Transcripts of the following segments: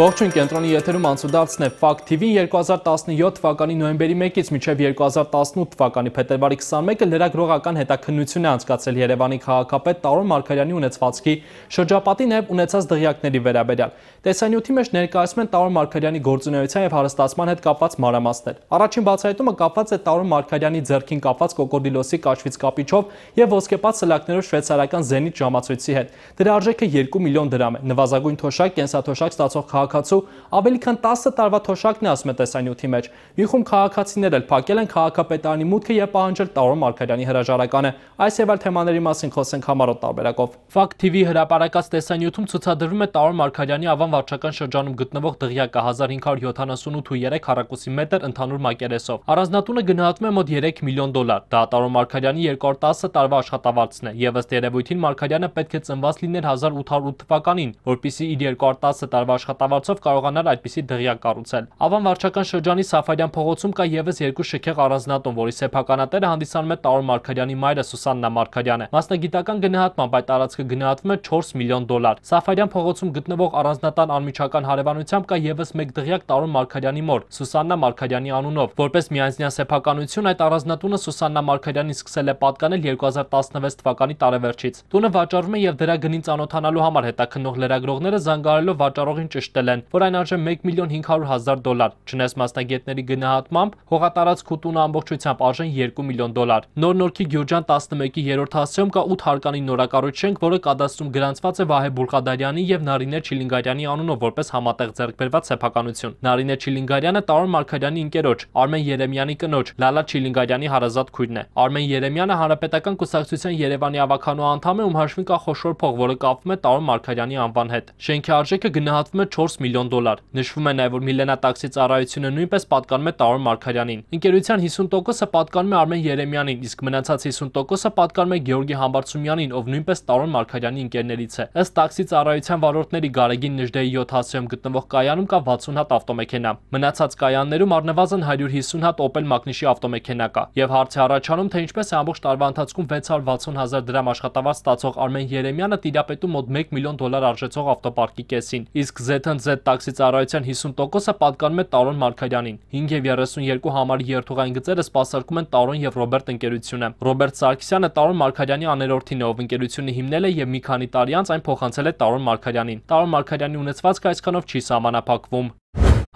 Ողջույն, կենտրոնի եթերում անցուդարձն է Fact TV-ին 2017 թվականի նոյեմբերի 1-ից մինչև 2018 թվականի փետրվարի 21-ը լրագրողական հետաքննություն է անցկացել Երևանի քաղաքապետ Տարոն Մարգարյանի ունեցվածքի շրջապատի նաև ունեցած դղյակների վերաբերյալ։ Տեսանյութի մեջ ներկայացում են Տարոն Մարգարյանի գործունեության եւ հարստացման հետ կապված մանրամասներ։ Առաջին բացահայտումը կապված է Տարոն Մարգարյանի ձեռքին կապված կոկորդիլոսի կաշվից կապիչով եւ ոսկեպած սլակներով շվեյցարական Zenit ժամացույցի հետ։ Դրա արժեքը 2 միլիոն դրամ է։ Նվազագույն թոշակ, կենսաթոշակ ստացող քաղաքացու ավելի քան 10 տարվա թոշակն է, ասում է տեսանյութի մեջ։ Մի խումբ քաղաքացիներ էլ փակել են քաղաքապետարանի մուտքը եւ պահանջել Տարոն Մարգարյանի հրաժարականը։ Այս եւ այլ թեմաների մասին խոսենք համառոտ տարբերակով։ Fact TV հրապարակած տեսանյութում ցուցադրվում է Տարոն Մարգարյանի Ավան վարչական շրջանում գտնվող դղյակը 1578.3 քառակուսի մետր ընդհանուր մակերեսով։ Առանձնատունը գնահատվում է մոտ 3 միլիոն դոլար։ Դա Տարոն Մարգարյանի 210 տարվա աշխատավարձն է եւ ըստ երևույթին Մարգարյանը պետք է ծնված լիներ 1808 թվականին, որպեսզի իր 210 տարվա աշխատավարձով կարողանար այդպիսի դղյակ կառուցել։ Ավան վարչական շրջանի Սաֆարյան փողոցում կա եւս երկու շքեղ առանձնատուն, որի սեփականատերը հանդիսանում է Տարոն Մարգարյանի մայրը Սուսաննա Մարգարյանը։ Մասնագիտական գնահատմամբ այդ տարածքը գնահատվում է 4 միլիոն դոլար։ Սաֆարյան փողոցում գտնվող առանձնատան անմիջական հարևանությամբ կա եւս մեկ դղյակ Տարոն Մարգարյանի մոր Սուսաննա Մարգարյանի անունով։ Որպես միանձնյա սեփականություն այդ առանձնատունը Սուսաննա Մարգարյանին սկսել է պատկանել 2016 թվականի տարեվերջից։ Տունը վաճառվում է եւ դրա գնին ծանոթանալու համար հետաքննող լրագրողները զանգահարելով վաճառողին ճշտել են, որ այն արժե 1 միլիոն 500.000 դոլար։ Չնայած մասնագետների գնահատմամբ հողատարածք ու տունը ամբողջությամբ արժեն 2 միլիոն դոլար։ Նոր-Նորքի Գյուրջան 11-ի 3-րդ հասցեում կա 8 հարկանի նորակառույց շենք, որը կադաստրում գրանցված է Վահե Բուլղադարյանի եւ Նարինե Չիլինգարյանի անունով որպես համատեղ ձեռքբերված սեփականություն։ Նարինե Չիլինգարյանը Տարոն Մարգարյանի ընկերոջ, Արմեն Երեմյանի կնոջ, Լալա Չիլինգարյանի հարազատ քույրն է։ Արմեն Երեմյանը Հանրապետական կուսակցության Երևանի ավականու անդամ է, ում հաշվին կա խոշոր փող, որը կապվում է Տարոն Մարգարյանի անվան հետ։ Շենքի արժեքը գնահատվում է 4 միլիոն դոլար։ Նշվում է նաև, որ Միլենա տաքսի ծառայությունը նույնպես պատկանում է Տարոն Մարգարյանին։ Ընկերության 50%-ը պատկանում է Արմեն Երեմյանին, իսկ մնացած 50%-ը պատկանում է Գեորգի Համբարձումյանին, ով նույնպես Տարոն Մարգարյանի ընկերներից է։ Ըստ տաքսի ծառայության վարորդների Գարեգին Նժդեի 7 հասցեում գտնվող կայանում կա 60 հատ ավտոմեքենա։ Մնացած կայաններում առնվազն 150 հատ Opel Magnishi ավտոմեքենա կա։ Եւ հարց է առաջանում, թե ինչպես է ամբողջ տարվա ընթացքում 660.000 դրամ աշխատավարձ ստացող Արմեն Երեմյանը տիրապետում մոտ 1 միլիոն դոլար արժեցող ավտոպարկի կեսին, իսկ Z&Z տաքսի ծառայության 50%-ը պատկանում է Տարոն Մարգարյանին։ 5.32 համարի երթուղային գծերը սպասարկում են Տարոն եւ Ռոբերտ ընկերությունը։ Ռոբերտ Սարգսյանը Տարոն Մարգարյանի աներորդին է, ով ընկերությունը հիմնել է եւ մի քանի տարի անց այն փոխանցել է Տարոն Մարգարյանին։ Տարոն Մարգարյանի ունեցվածքը այսքանով չի սահմանափակվում։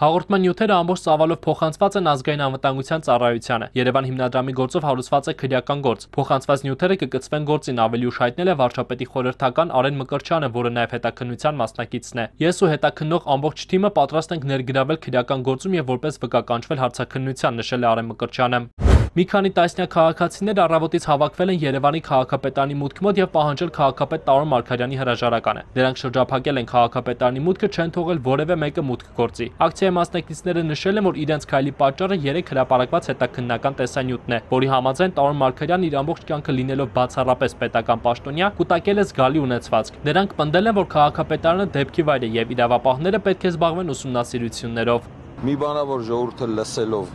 Հաղորդման նյութերը ամբողջ ծավալով փոխանցված են ազգային անվտանգության ծառայությանը։ Երևան հիմնադրամի գործով հարուցված է քրեական գործ։ Փոխանցված նյութերը կկցվեն գործին, ավելի ուշ հայտնել է վարչապետի խորհրդական Արեն Մկրտչյանը, որը նաև հետաքննության մասնակիցն է։ Ես ու հետաքննող ամբողջ թիմը պատրաստ ենք ներգրավել քրեական գործում եւ որպես վկա կանչվել հարցաքննության, նշել է Արեն Մկրտչյանը։ Մի քանի տասնյակ քաղաքացիներ առավոտից հավաքվել են Երևանի քաղաքապետարանի մուտքի մոտ եւ պահանջել քաղաքապետ Տարոն Մարգարյանի հրաժարականը։ Դրանք շրջափակել են քաղաքապետարանի մուտքը, չեն թողել որևէ մեկը մուտք գործի։ Ակցիայի մասնակիցները նշել են, որ իրենց քայլի պատճառը 3 հրապարակված հետաքննական տեսանյութն է, որի համաձայն Տարոն Մարգարյանն իր ամբողջ կյանքը լինելով բացառապես պետական պաշտոնյա, կուտակել է զգալի ունեցվածք։ Նրանք պնդել են, որ քաղաքապետարանը դեպքի վայր է եւ իրավապահները պետք է զբաղվեն ուսումնասիրություններով։ Մի բանավոր ժողովուրդը լսելով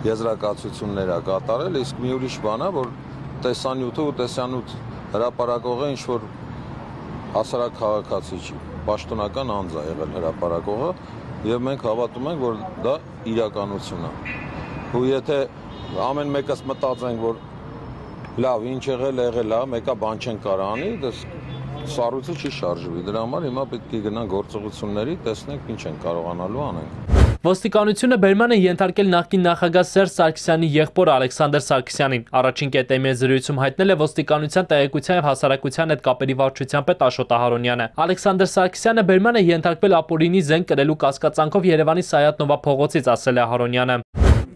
եզրակացություններ է կատարել, իսկ մի ուրիշ բան է, որ տեսանյութը ու տեսանյութ հրապարակողը ինչ որ հասարակ քաղաքացի չի, պաշտոնական անձ է եղել հրապարակողը եւ մենք հավատում ենք, որ դա իրականություն է։ Ու եթե ամեն մեկս մտածենք, որ լավ, ինչ եղել է, մեկը բան չեն կարող անի, դա սառույցը չի շարժվի։ Դրա համար հիմա պետք է գնանք գործողությունների, տեսնենք ինչ են կարողանալու անենք։ Ոստիկանությունը բերման է ենթարկել նախկին նախագահ Սերժ Սարգսյանի եղբոր Ալեքսանդր Սարգսյանին։ Առաջին կետեմի զրույցում հայտնել է ոստիկանության տեղեկության եւ հասարակության հետ կապերի վարչության պետ Աշոտ Ահարոնյանը։ Ալեքսանդր Սարգսյանը բերման է ենթարկվել ապօրինի զենք կրելու կասկածանքով Երևանի Սայաթ-Նովա փողոցից, ասել է Ահարոնյանը։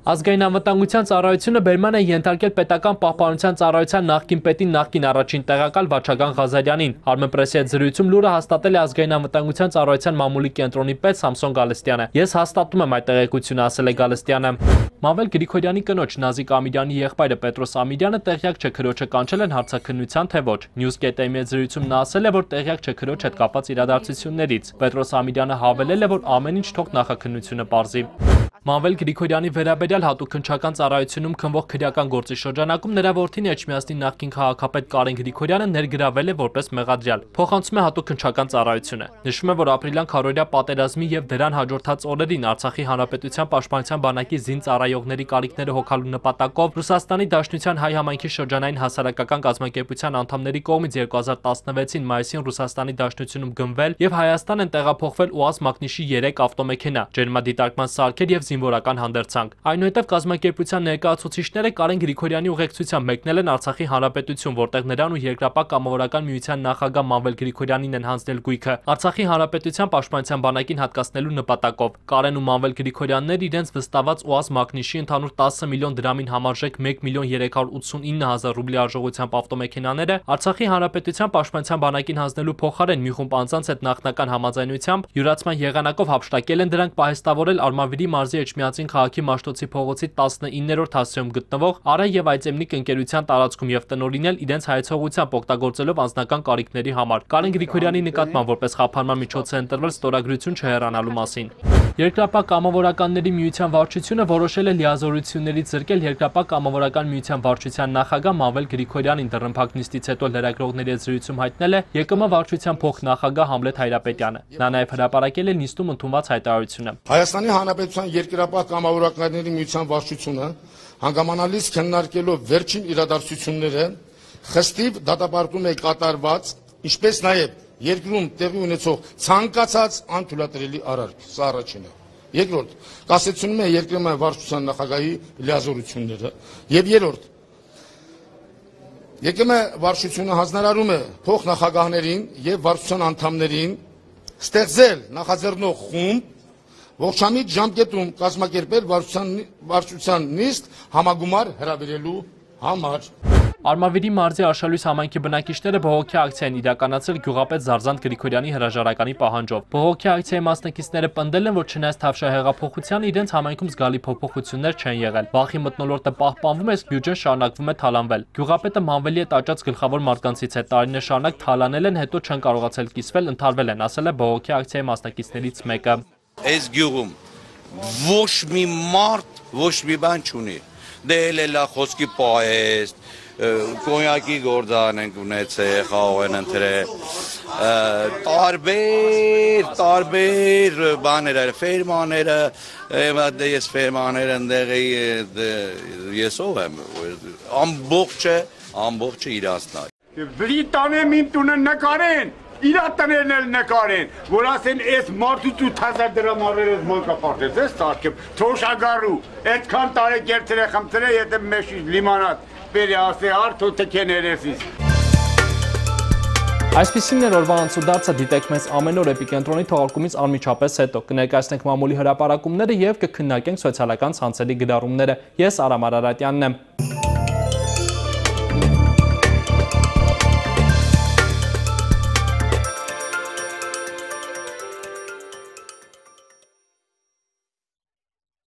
Ազգային անվտանգության ծառայությունը բերման է ենթարկել պետական պահպանության ծառայության նախկին պետին նախկին առաջին տեղակալ Վաչագան Ղազարյանին։ Armenpress-ի հետ զրույցում լուրը հաստատել է ազգային անվտանգության ծառայության մամուլի կենտրոնի պետ Սամսոն Գալստյանը։ Ես հաստատում եմ այդ տեղեկությունը, ասել է Գալստյանը։ Մավել Գրիգորյանի կնոջ Նազիկ Ամիրյանի եղբայրը Պետրոս Ամիրյանը տեղյակ չէ քրոջը կանչել են հարցաքննության թե ոչ։ News.am-ի հետ զրույցում նա ասել է, որ տեղյակ չէ քրոջ հետ կապված իրադարձություններից։ Պետրոս Ամիրյանը հավելել է, որ ամեն ինչ թող նախաքննությունը պարզի։ Մանվել Գրիգորյանի վերաբերյալ հատուկ քննչական ծառայությունում քննվող քրեական գործի շրջանակում նրա որդին Էջմիածնի նախկին քաղաքապետ Կարեն Գրիգորյանը ներգրավել է որպես մեղադրյալ։ Փոխանցում է հատուկ քննչական ծառայությունը։ Նշվում է, որ ապրիլյան քառօրյա պատերազմի եւ դրան հաջորդած օրերին Արցախի Հանրապետության Պաշտպանության բանակի զինծառայողների կարիքները հոգալու նպատակով Ռուսաստանի Դաշնության հայ համայնքի շրջանային հասարակական կազմակերպության անդամների կողմից 2016-ին մայիսին Ռուսաստանի Դաշնությունում գնվել եւ Հայաստան են տեղափոխվել ՈՒԱԶ մակնիշի 3 ավտոմեքենա, ջերմադիտարկման սարքեր եւ զինվորական հանդերձանք։ Այնուհետև կազմակերպության ներկայացուցիչները Կարեն Գրիգորյանի ուղեկցությամբ մեկնել են Արցախի Հանրապետություն, որտեղ նրան ու Երկրապահ կամավորական միության նախագահ Մանվել Գրիգորյանին են հանձնել գույքը Արցախի Հանրապետության Պաշտպանության բանակին հատկացնելու նպատակով։ Կարեն ու Մանվել Գրիգորյանները իրենց վստահված ՈՒԱԶ մակնիշի ընդհանուր 10 միլիոն դրամին համարժեք 1.389 միլիոն ռուբլի արժողությամբ ավտոմեքենաները Արցախի Հանրապետության Պաշտպանության բանակին հանձնելու փոխարեն մի խումբ անձանց հետ նախնական համաձայնությամբ յուրացման եղանակով հափշտակել են դրանք պահեստավորել Արմավիրի մարզի Էջմիածին քաղաքի Մաշտոցի փողոցի 19-րդ հասցեում գտնվող Արա եւ Այծեմնիկ ընկերության տարածքում եւ տնօրինել իրենց հայեցողությամբ օգտագործելով անձնական կարիքների համար։ Կարեն Գրիգորյանի նկատմամբ որպես խափանման միջոց է ընտրվել ստորագրություն չհեռանալու մասին։ Երկրապահ կամավորականների միության վարչությունը որոշել է լիազորություններից զրկել Երկրապահ կամավորական միության վարչության նախագահ Մանվել Գրիգորյանին դռնփակ նիստից հետո լրագրողների հետ զրույցում հայտնել է ԵԿՄ վարչության փոխնախագահ Համլետ Հայրապետյանը։ Նա նաև հրապարակել է նիստում ընդունված հայտարարությունը։ Հայաստանի Հանրապետության Երկրապահ կամավորականների միության վարչությունը հանգամանալից քննարկելով վերջին իրադարձությունները խստիվ դատապարտում է կատարված, ինչպես նաև երկրում տեղի ունեցող ցանկացած անթույլատրելի արարք, սա առաջինը։ Երկրորդ, կասեցնում է երկրի վարչության նախագահի լիազորությունները, եւ երրորդ, ԵԿՄ վարչությունը հանձնարարում է փոխնախագահներին եւ վարչության անդամներին ստեղծել նախաձեռնող խումբ, ողջամիտ ժամկետում կազմակերպել վարչության նիստ համագումար հրավիրելու համար։ Արմավիրի մարզի Արշալույս համայնքի բնակիչները բողոքի ակցիա են իրականացրել գյուղապետ Զարզանտ Գրիգորյանի հրաժարականի պահանջով։ Բողոքի ակցիայի մասնակիցները պնդել են, որ չնայած թավշահեղափոխությանը իրենց համայնքում զգալի փոփոխություններ չեն եղել։ Վախի մթնոլորտը պահպանվում է, իսկ բյուջեն շարունակվում է թալանվել։ Գյուղապետը Մանվելի հետ աճած գլխավոր մարդկանցից է, տարիներ շարունակ թալանել են, հետո չեն կարողացել կիսվել, ընթարվել են, ասել է բողոքի ակցիայի մասնակիցներից մեկը։ Այս գյուղում ոչ մի մարդ ոչ մի բան չունի։ Դե էլ խոսքի պահեստ կոնյակի գործան ենք ունեցել, խաղ են ընտրել, տարբեր բաներ, ֆերմաները, ես ֆերմաները ընդեղի ես ով եմ, ամբողջը իրանցնալ։ Բրիտանիա մին տունը նկարեն, իրա տներն էլ նկարեն, որ ասեն այս մարդուց 8000 դրամ արել մանկապարտեզ, ես սարքեմ, թոշագարու, այդքան տարեկերտեր է խմծրել, եթե մեշի լիմանատ, բերի ասե արդ ու թքեն երեսիս։ Այսպիսին էր օրվա անցուդարձը, դիտեք մեզ ամեն օր Էպիկենտրոնի թողարկումից անմիջապես հետո, կներկայացնենք մամուլի հրապարակումները և կքննարկենք սոցիալական ցանցերի գրառումները։ Ես Արամ Արարատյանն եմ։